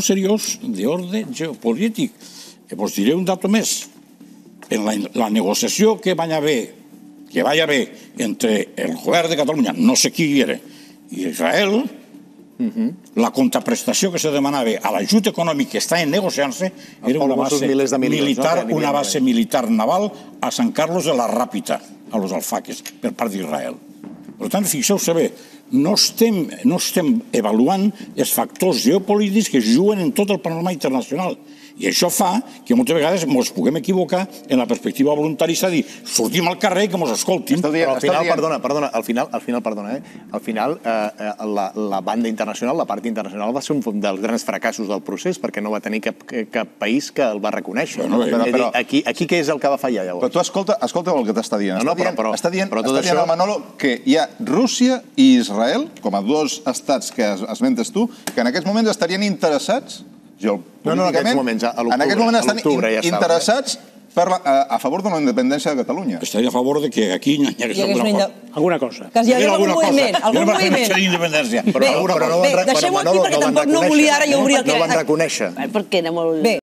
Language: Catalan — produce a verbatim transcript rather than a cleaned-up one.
seriós d'ordre geopolític. Vos diré un dato més. En la, la negociació que va haver, que va haver entre el govern de Catalunya, no sé qui era, i Israel, uh-huh. la contraprestació que se demanava a l'ajut econòmic que està negociant-se era una base militar, una base militar naval a San Carlos de la Ràpita, a los alfaques, per part d'Israel. Per tant, fixeu-se bé, no estem, no estem avaluant els factors geopolítics que juguen en tot el panorama internacional. I això fa que moltes vegades ens puguem equivocar en la perspectiva voluntarista de dir, sortim al carrer que ens escoltin. Però al final, perdona, perdona, al final, al final, perdona, eh? Al final, eh, la, la banda internacional, la part internacional va ser un dels grans fracassos del procés perquè no va tenir cap, cap país que el va reconèixer. Bueno, però, però, aquí, aquí què és el que va fallar, llavors? Però tu escolta, escolta el que t'està dient. No, no, però, però, està dient, però està dient això... el Manolo que hi ha Rússia i Israel, com a dos estats que esmentes tu, que en aquests moments estarien interessats No, no, en aquests moments, a l'octubre. En aquests moments estan ja interessats per la, a, a favor de la independència de Catalunya. Estaria a favor de que aquí hi hagués alguna cosa. Alguna cosa. Que hi hagués algun moviment. Algun moviment. d'independència. Bé, deixem-ho aquí perquè tampoc no volia ara i obrir el que... No van reconèixer. Perquè era molt... Bé,